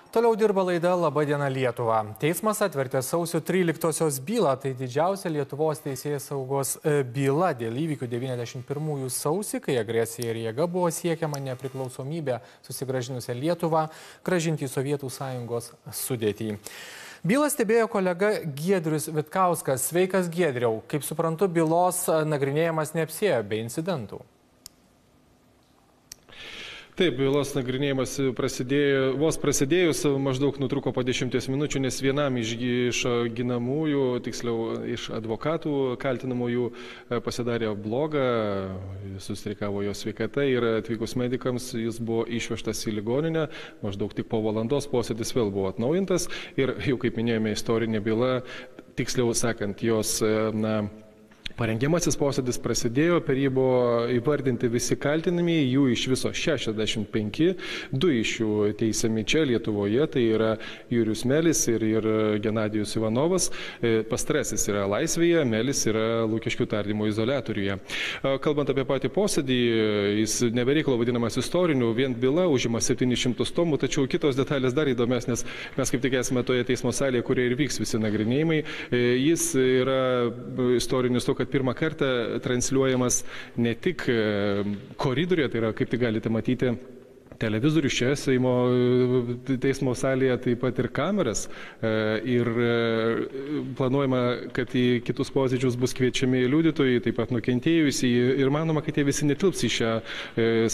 Toliau dirba laida Labą dieną Lietuva. Teismas atvertė sausio 13-osios bylą, tai didžiausia Lietuvos teisėjos saugos byla dėl įvykių 91-ųjų sausį, kai agresija ir jėga buvo siekiama nepriklausomybę susigrąžinusią Lietuvą grąžinti į Sovietų Sąjungos sudėtį. Bylą stebėjo kolega Giedrius Vitkauskas. Sveikas, Giedriau. Kaip suprantu, bylos nagrinėjimas neapsėjo be incidentų. Taip, bylos nagrinėjimas vos prasidėjus, maždaug nutruko po 10 minučių, nes vienam iš ginamųjų, tiksliau iš advokatų kaltinamųjų pasidarė blogą, sustrikavo jo sveikata ir atvykus medikams jis buvo išvežtas į ligoninę, maždaug tik po valandos posėdis vėl buvo atnaujintas ir jau kaip minėjome istorinė byla, tiksliau sakant, jos parengiamasis posėdis prasidėjo, per jį buvo įvardinti visi kaltinamieji, jų iš viso 65, 2 iš jų teisiami čia Lietuvoje, tai yra Jurijus Melis ir Genadijus Ivanovas. Pastarasis yra laisvėje, Melis yra Lukiškių tardymo izoliatoriuje. Kalbant apie patį posėdį, jis nebereikalo vadinamas istoriniu, vien byla užima 700 tomų, tačiau kitos detalės dar įdomesnės, mes kaip tik esame toje teismo salėje, kurioje ir vyks visi nagrinėjimai. Jis yra istorinis to, kad pirmą kartą transliuojamas ne tik koridoriuje, tai yra, kaip tik galite matyti, televizorių čia Seimo teismo salėje, taip pat ir kameras. Ir planuojama, kad į kitus posėdžius bus kviečiami liudytojai, taip pat nukentėjusieji. Ir manoma, kad jie visi netilps į šią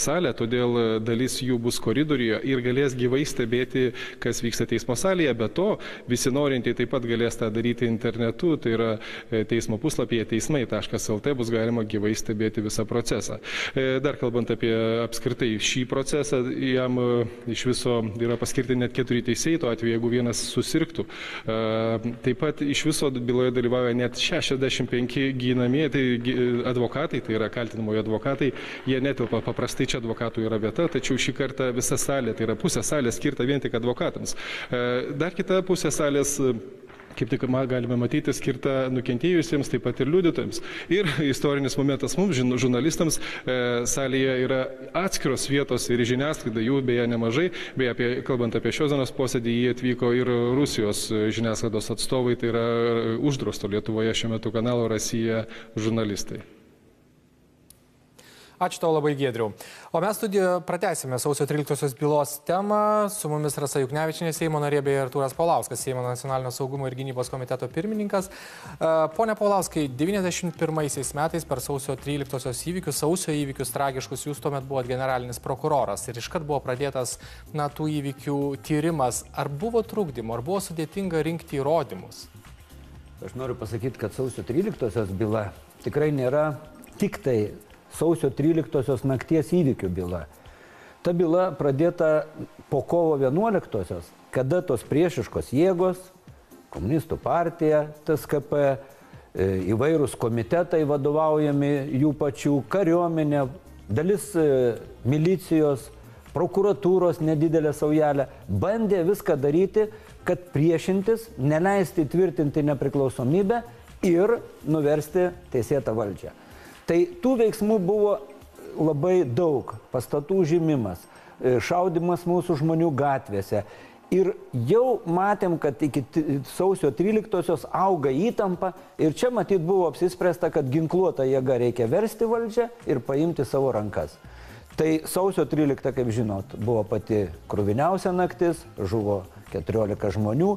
salę, todėl dalis jų bus koridoriuje ir galės gyvai stebėti, kas vyksta teismo salėje. Be to, visi norintieji taip pat galės tą daryti internetu, tai yra teismo puslapyje teismai.lt bus galima gyvai stebėti visą procesą. Dar kalbant apie apskritai šį procesą, jam iš viso yra paskirti net 4 teisėjai, tuo atveju, jeigu vienas susirgtų. Taip pat iš viso byloje dalyvauja net 65 ginamieji, tai advokatai, tai yra kaltinamojo advokatai, jie netilpa, paprastai čia advokatų yra vieta, tačiau šį kartą visa salė, tai yra pusė salės skirta vien tik advokatams. Dar kita pusė salės, kaip tik galime matyti, skirta nukentėjusiems, taip pat ir liudytojams. Ir istorinis momentas mums, žurnalistams, salėje yra atskiros vietos ir žiniasklaida, jų beje nemažai. Beje, kalbant apie šios dienos posėdį, jie atvyko ir Rusijos žiniasklaidos atstovai, tai yra uždrausto Lietuvoje šiuo metu kanalo Rasija žurnalistai. Ačiū tau labai, Giedriau. O mes studijoje pratęsime sausio 13-osios bylos temą. Su mumis Rasa Juknevičienė, Seimo narė, bei Artūras Paulauskas, Seimo nacionalinio saugumo ir gynybos komiteto pirmininkas. Pone Paulauskai, 91 metais per sausio 13-osios įvykius, sausio įvykius tragiškus, jūs tuomet buvot generalinis prokuroras ir iškart buvo pradėtas tų įvykių tyrimas. Ar buvo trukdymo, ar buvo sudėtinga rinkti įrodymus? Aš noriu pasakyti, kad sausio 13-osios byla tikrai nėra tik tai sausio 13-osios nakties įvykių byla. Ta byla pradėta po kovo 11-osios, kada tos priešiškos jėgos, komunistų partija, TSKP, įvairūs komitetai vadovaujami jų pačių, kariuomenė, dalis milicijos, prokuratūros nedidelė saujelė, bandė viską daryti, kad priešintis, neleisti tvirtinti nepriklausomybę ir nuversti teisėtą valdžią. Tai tų veiksmų buvo labai daug. Pastatų užimimas, šaudimas mūsų žmonių gatvėse. Ir jau matėm, kad iki sausio 13-osios auga įtampa ir čia matyt buvo apsispręsta, kad ginkluotą jėgą reikia versti valdžią ir paimti savo rankas. Tai sausio 13, kaip žinot, buvo pati kruviniausia naktis, žuvo 14 žmonių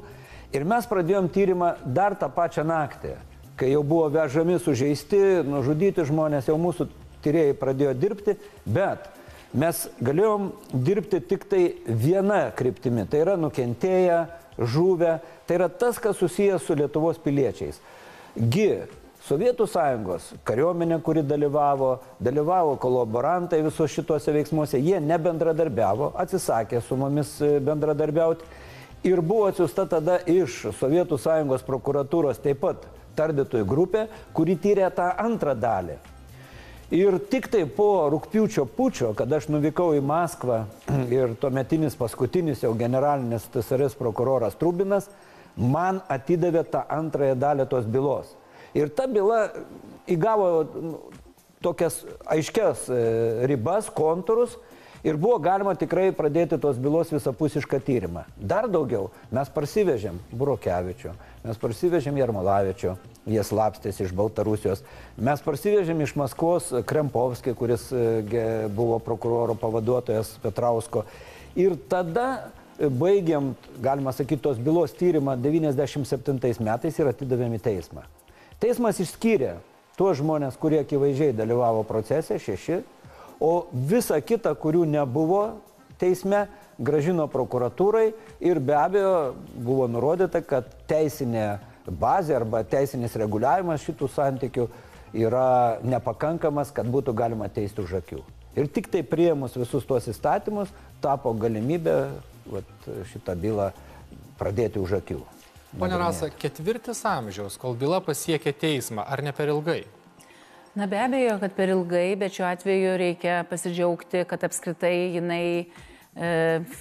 ir mes pradėjom tyrimą dar tą pačią naktį. Kai jau buvo vežami sužeisti, nužudyti žmonės, jau mūsų tyrėjai pradėjo dirbti, bet mes galėjom dirbti tik tai viena kryptimi, tai yra nukentėję, žuvę, tai yra tas, kas susijęs su Lietuvos piliečiais. Sovietų Sąjungos kariuomenė, kuri dalyvavo kolaborantai visos šituose veiksmuose, jie nebendradarbiavo, atsisakė su mumis bendradarbiauti ir buvo atsiųsta tada iš Sovietų Sąjungos prokuratūros taip pat tardytojų grupė, kuri tyrė tą antrą dalį. Ir tik tai po rugpjūčio pučio, kada aš nuvykau į Maskvą ir tuometinis paskutinis jau generalinis TSRS prokuroras Trubinas, man atidavė tą antrąją dalį tos bylos. Ir ta byla įgavo tokias aiškias ribas, kontūrus Ir buvo galima tikrai pradėti tos bylos visapusišką tyrimą. Dar daugiau, mes parsivežėm Burokevičių, mes parsivežėm Jarmolavičių, jie slapstėsi iš Baltarusijos, mes parsivežėm iš Maskvos Krempovskį, kuris buvo prokuroro pavaduotojas Petrausko. Ir tada baigiam, galima sakyti, tos bylos tyrimą 97 metais ir atidavėm į teismą. Teismas išskyrė tuos žmonės, kurie akivaizdžiai dalyvavo procese, 6, o visa kita, kurių nebuvo teisme, grąžino prokuratūrai ir be abejo buvo nurodyta, kad teisinė bazė arba teisinis reguliavimas šitų santykių yra nepakankamas, kad būtų galima teisti už akių. Ir tik tai priėmus visus tuos įstatymus tapo galimybė šitą bylą pradėti už akių. Pone Rasa, 4 amžiaus, kol byla pasiekė teismą, ar ne per ilgai? Na be abejo, kad per ilgai, bet šiuo atveju reikia pasidžiaugti, kad apskritai jinai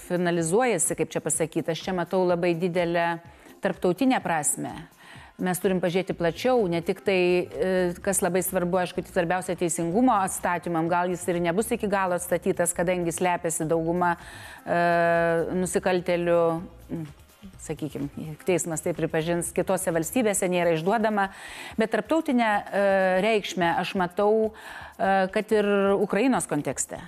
finalizuojasi, kaip čia pasakyti. Aš čia matau labai didelę tarptautinę prasme. Mes turim pažiūrėti plačiau, ne tik tai, kas labai svarbu, aišku, svarbiausia teisingumo atstatymam, gal jis ir nebus iki galo atstatytas, kadangi slepiasi dauguma nusikaltelių, sakykime, teismas tai pripažins, kitose valstybėse nėra išduodama, bet tarptautinę reikšmę aš matau, kad ir Ukrainos kontekste.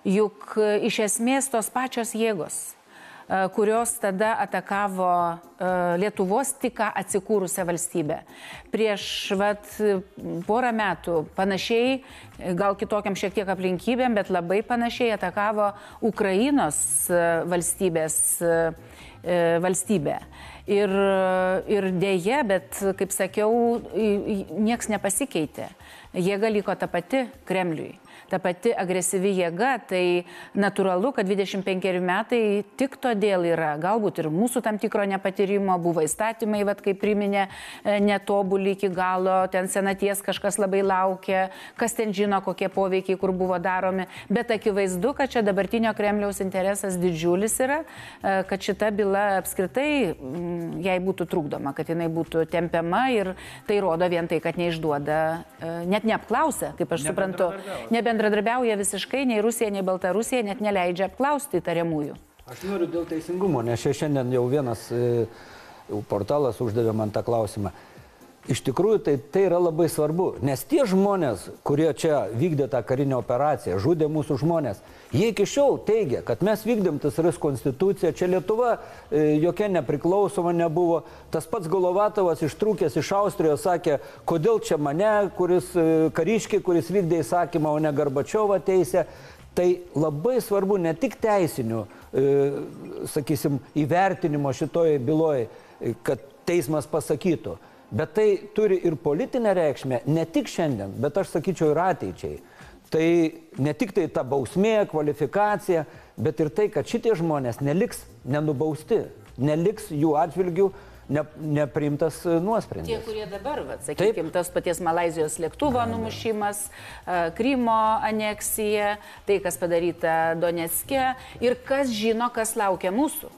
Juk iš esmės tos pačios jėgos, kurios tada atakavo Lietuvos tik atsikūrusią valstybę. Prieš porą metų panašiai, gal kitokiam šiek tiek aplinkybėm, bet labai panašiai atakavo Ukrainos valstybę. Ir dėja, bet, kaip sakiau, nieks nepasikeitė. Jėga liko ta pati Kremliui. Ta pati agresyvi jėga, tai natūralu, kad 25 metai tik todėl yra, galbūt ir mūsų tam tikro nepatyrimo, buvo įstatymai, kaip priminė, netobuli iki galo, ten senaties kažkas labai laukia, kas ten žino, kokie poveikiai, kur buvo daromi, bet akivaizdu, kad čia dabartinio Kremliaus interesas didžiulis yra, kad šita byla apskritai jai būtų trukdoma, kad jinai būtų tempiama ir tai rodo vien tai, kad neišduoda, net neapklausia, kaip aš suprantu, nebendradarbiauja visiškai, nei Rusija, nei Baltarusija, net neleidžia apklausti įtariamųjų. Aš noriu dėl teisingumo, nes šiandien jau vienas portalas uždavė man tą klausimą. Iš tikrųjų, tai yra labai svarbu, nes tie žmonės, kurie čia vykdė tą karinę operaciją, žudė mūsų žmonės, jie iki šiol teigia, kad mes vykdėm TSRS konstituciją, čia Lietuva jokia nepriklausoma nebuvo. Tas pats Golovatovas ištrūkęs iš Austrijos sakė, kodėl čia mane, kariškiai, kuris vykdė įsakymą, o ne Gorbačiovo teisę. Tai labai svarbu ne tik teisinių, sakysim, įvertinimo šitoje byloje, kad teismas pasakytų, bet tai turi ir politinę reikšmę, ne tik šiandien, bet aš sakyčiau ir ateičiai. Tai ne tik tai ta bausmė, kvalifikacija, bet ir tai, kad šitie žmonės neliks nenubausti, neliks jų atžvilgių nepriimtas nuosprendis. Tie, kurie dabar, sakykime, tas paties Malaizijos lėktuvo numušimas, Krymo aneksija, tai, kas padaryta Donecke ir kas žino, kas laukia mūsų.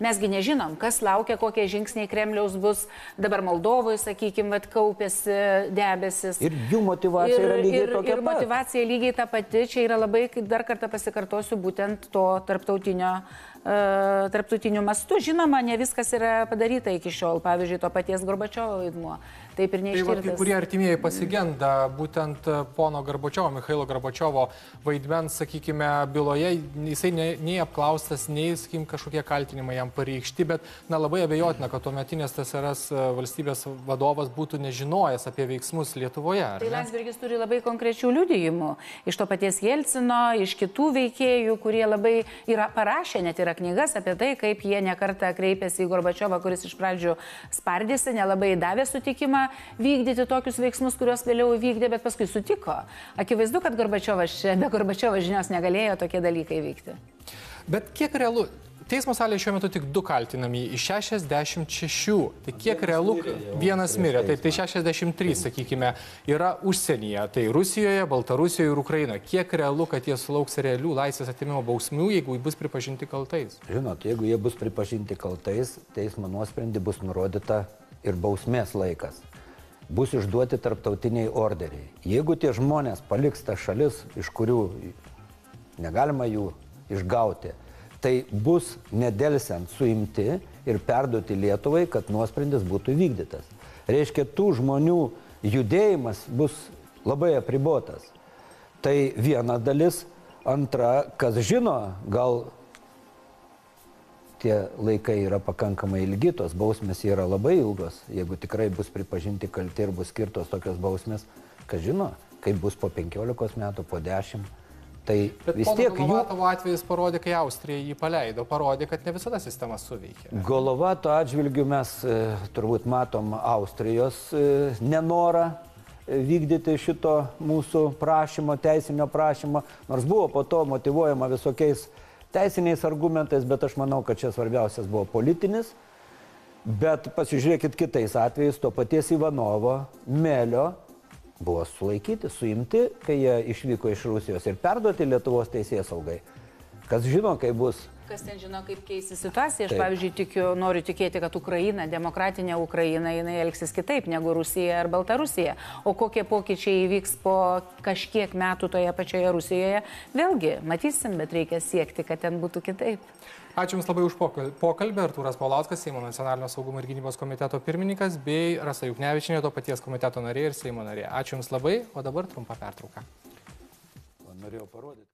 Mesgi nežinom, kas laukia, kokie žingsniai Kremliaus bus. Dabar Moldovoje, sakykime, kaupėsi debesis. Ir jų motyvacija yra lygiai tokia pat. Ir motyvacija lygiai ta pati. Čia yra labai, dar kartą pasikartosiu, būtent to tarptautiniu mastu. Žinoma, ne viskas yra padaryta iki šiol. Pavyzdžiui, to paties Gorbačiovo vaidmuo. Taip ir neištirtas. Tai kurie artimieji pasigenda būtent pono Gorbačiovo, Michailo Gorbačiovo vaidmens, sakykime, byloje. Jisai nei apklaustas, nei, sakykime, kažkokie kaltinimai jam pareikšti, bet labai abejotina, kad tuometinės TSRS valstybės vadovas būtų nežinojęs apie veiksmus Lietuvoje. Tai Landsbergis turi labai konkrečių liudijimų. Iš to paties Jelcino, iš kitų veikėjų, kurie labai yra parašę, net yra knygas apie tai, kaip jie nekartą kreipėsi į Gorbačiovą, kuris iš pradžių spardėsi, nelabai davė sutikimą vykdyti tokius veiksmus, kuriuos vėliau vykdė, bet paskui sutiko. Akivaizdu, kad be Gorbačiovo žinios negalėjo tokie dalykai vykti. Bet kiek realu? Teismo salėje šiuo metu tik 2 kaltinami iš 66. Tai kiek realu? Vienas mirė. Tai 63, sakykime, yra užsienyje. Tai Rusijoje, Baltarusijoje ir Ukrainoje. Kiek realu, kad jie sulauks realių laisvės atėmimo bausmių, jeigu bus pripažinti kaltais? Žinot, jeigu jie bus pripažinti kaltais, teismo nuosprendį bus nurodyta ir bausmės laikas. Bus išduoti tarptautiniai orderiai. Jeigu tie žmonės paliks tas šalis, iš kurių negalima jų išgauti. Tai bus nedelsiant suimti ir perduoti Lietuvai, kad nuosprendis būtų vykdytas. Reiškia, tų žmonių judėjimas bus labai apribotas. Tai viena dalis. Antra, kas žino, gal tie laikai yra pakankamai ilgi, tos bausmės yra labai ilgos. Jeigu tikrai bus pripažinti kalti ir bus skirtos tokios bausmės, kas žino, kaip bus po 15 metų, po 10. Tai vis tiek jų... Golovatovo atvejis parodė, kai Austrija jį paleido, parodė, kad ne visada sistema suveikė. Golovato atžvilgiu mes turbūt matom Austrijos nenorą vykdyti šito mūsų prašymo, teisinio prašymo, nors buvo po to motyvuojama visokiais teisiniais argumentais, bet aš manau, kad čia svarbiausias buvo politinis. Bet pasižiūrėkit kitais atvejais, to paties Ivanovo, Melio buvo sulaikyti, suimti, kai jie išvyko iš Rusijos ir perduoti Lietuvos teisėsaugai. Kas žino, kaip bus. Kas ten žino, kaip keisi situacija. Aš, pavyzdžiui, noriu tikėti, kad Ukraina, demokratinė Ukraina, jinai elgsis kitaip negu Rusija ar Baltarusija. O kokie pokyčiai įvyks po kažkiek metų toje pačioje Rusijoje, vėlgi matysim, bet reikia siekti, kad ten būtų kitaip. Ačiū Jums labai už pokalbį. Artūras Paulauskas, Seimo nacionalinio saugumo ir gynybos komiteto pirmininkas, bei Rasa Juknevičienė, to paties komiteto narė ir Seimo narė. Ačiū Jums labai, o dabar trumpa pertrauka. Norėjau parodyti.